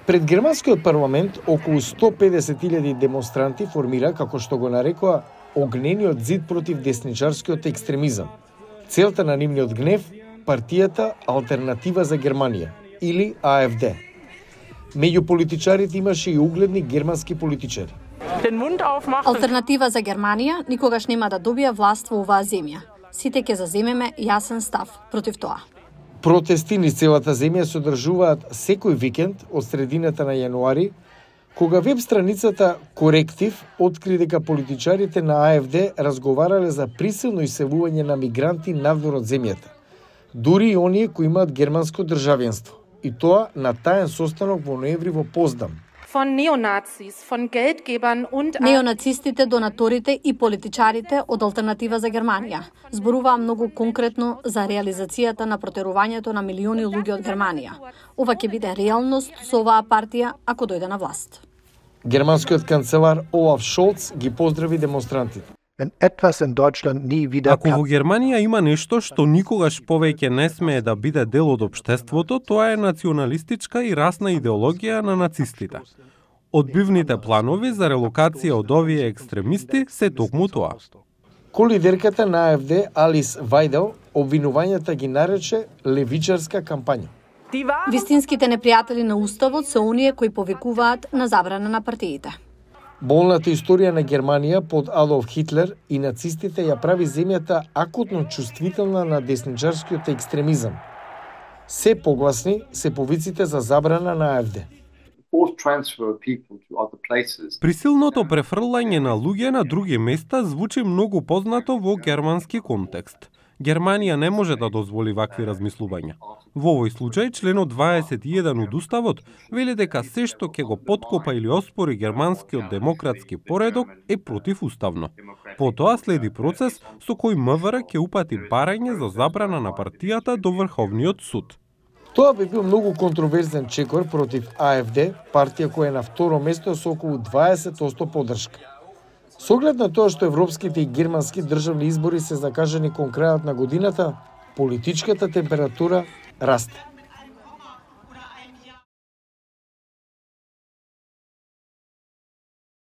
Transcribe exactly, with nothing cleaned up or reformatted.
Пред германскиот парламент околу сто педесет илјади демонстранти формира, како што го нарекоа, огнениот зид против десничарскиот екстремизам. Целта на нивниот гнев – партијата Алтернатива за Германија, или А Ф Д. Меѓу политичарите имаше и угледни германски политичари. Алтернатива за Германија никогаш нема да добија власт во оваа земја. Сите ќе заземеме јасен став против тоа. Протести низ целата земја се одржуваат секој викенд од средината на јануари, кога веб страницата Коректив откри дека политичарите на А Ф Д разговарале за присилно иселување на мигранти надвор од земјата, дури и оние кои имаат германско државенство, и тоа на таен состанок во ноември во Поздам. Неонацистите, донаторите и политичарите од Алтернатива за Германија зборуваа многу конкретно за реализацијата на протерувањето на милиони луѓе од Германија. Ова ќе биде реалност со оваа партија ако дојде на власт. Германскиот канцелар Олаф Шолц ги поздрави демонстрантите. Ако во Германија има нешто што никогаш повеќе не смее да биде дел од општеството, тоа е националистичка и расна идеологија на нацистите. Одбивните планови за релокација од овие екстремисти се токму тоа. Колидерката на А Ф Д Алис Вајдел обвинувањата ги нарече левичарска кампања. Вистинските непријатели на уставот се оние кои повикуваат на забрана на партиите. Болната историја на Германија под Адолф Хитлер и нацистите ја прави земјата акутно чувствителна на десничарскиот екстремизам. Се погласни се повиците за забрана на А Ф Д. Присилното префрлање на луѓе на други места звучи многу познато во германски контекст. Германија не може да дозволи вакви размислувања. Во овој случај, членот дваесет и еден од Уставот вели дека се што ќе го поткопа или оспори германскиот демократски поредок е противуставно. Потоа следи процес со кој М В Р ќе упати барање за забрана на партијата до Врховниот суд. Тоа би бил многу контроверзен чекор против А Ф Д, партија која е на второ место со околу дваесет одсто поддршка. Со оглед на тоа што европските и германски државни избори се закажани кон крајот на годината, политичката температура расте.